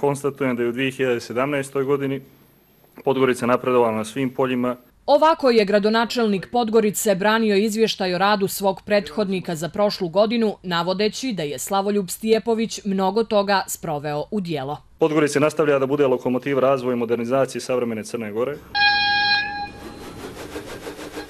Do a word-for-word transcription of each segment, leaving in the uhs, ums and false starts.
konstatujem da je u dvije hiljade sedamnaestoj. godini Podgorica napredovala na svim poljima. Ovako je gradonačelnik Podgorice branio izvještaj o radu svog prethodnika za prošlu godinu, navodeći da je Slavoljub Stijepović mnogo toga sproveo u djelo. Podgorica nastavlja da bude lokomotiva razvoja i modernizacije savremene Crne Gore.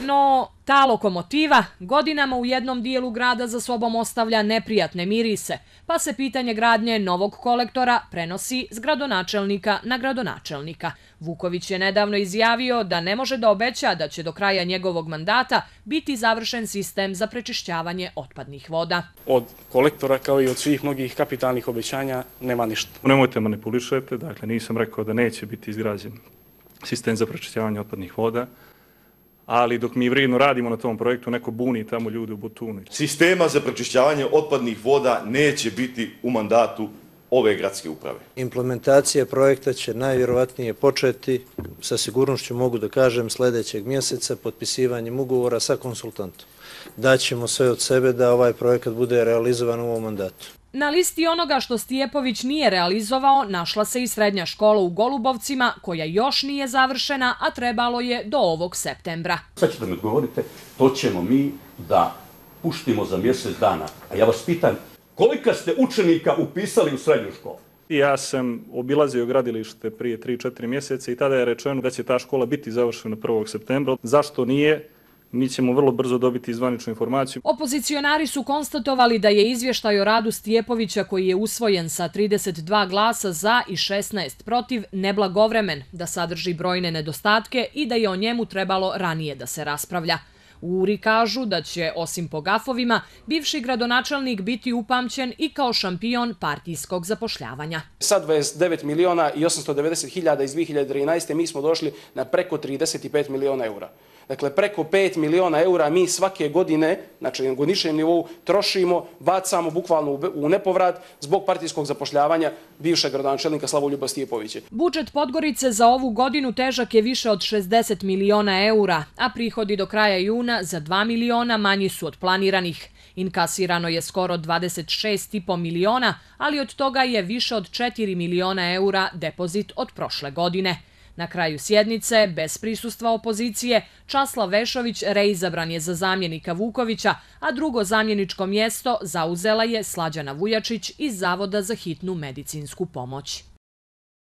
No, ta lokomotiva godinama u jednom dijelu grada za sobom ostavlja neprijatne mirise, pa se pitanje gradnje novog kolektora prenosi s gradonačelnika na gradonačelnika. Vuković je nedavno izjavio da ne može da obeća da će do kraja njegovog mandata biti završen sistem za prečišćavanje otpadnih voda. Od kolektora kao i od svih mnogih kapitalnih obećanja nema ništa. Nemojte manipulišete, dakle nisam rekao da neće biti izgrađen sistem za prečišćavanje otpadnih voda. Ali dok mi vredno radimo na tom projektu, neko buni tamo ljude u Botunu. Sistema za prečišćavanje otpadnih voda neće biti u mandatu ove gradske uprave. Implementacija projekta će najvjerovatnije početi, sa sigurnošću mogu da kažem, sljedećeg mjeseca potpisivanjem ugovora sa konsultantom. Daćemo sve od sebe da ovaj projekat bude realizovan u ovom mandatu. Na listi onoga što Stijepović nije realizovao našla se i srednja škola u Golubovcima, koja još nije završena, a trebalo je do ovog septembra. Sad ćete mi odgovorite, to ćemo mi da puštimo za mjesec dana. A ja vas pitam, kolika ste učenika upisali u srednju školu? Ja sam obilazio gradilište prije tri četiri mjeseca i tada je rečeno da će ta škola biti završena prvog septembra. Zašto nije? Mi ćemo vrlo brzo dobiti zvaničnu informaciju. Opozicionari su konstatovali da je izvještaj o radu Stijepovića, koji je usvojen sa trideset dva glasa za i šesnaest protiv, neblagovremen, da sadrži brojne nedostatke i da je o njemu trebalo ranije da se raspravlja. U URI kažu da će, osim po gafovima, bivši gradonačelnik biti upamćen i kao šampion partijskog zapošljavanja. Sa dvadeset devet miliona i osamsto devedeset hiljada iz dvije hiljade trinaeste. mi smo došli na preko trideset pet miliona eura. Dakle, preko pet miliona eura mi svake godine, znači na godišnjem nivou, trošimo, bacamo bukvalno u nepovrat zbog partijskog zapošljavanja bivšeg gradonačelnika Slavoljuba Stijepovića. Budžet Podgorice za ovu godinu težak je više od šezdeset miliona eura, a prihodi do kraja juna za dva miliona manji su od planiranih. Inkasirano je skoro dvadeset šest i po miliona, ali od toga je više od četiri miliona eura depozit od prošle godine. Na kraju sjednice, bez prisustva opozicije, Časlav Vešović reizabran je za zamjenika Vukovića, a drugo zamjeničko mjesto zauzela je Slađana Vujačić iz Zavoda za hitnu medicinsku pomoć.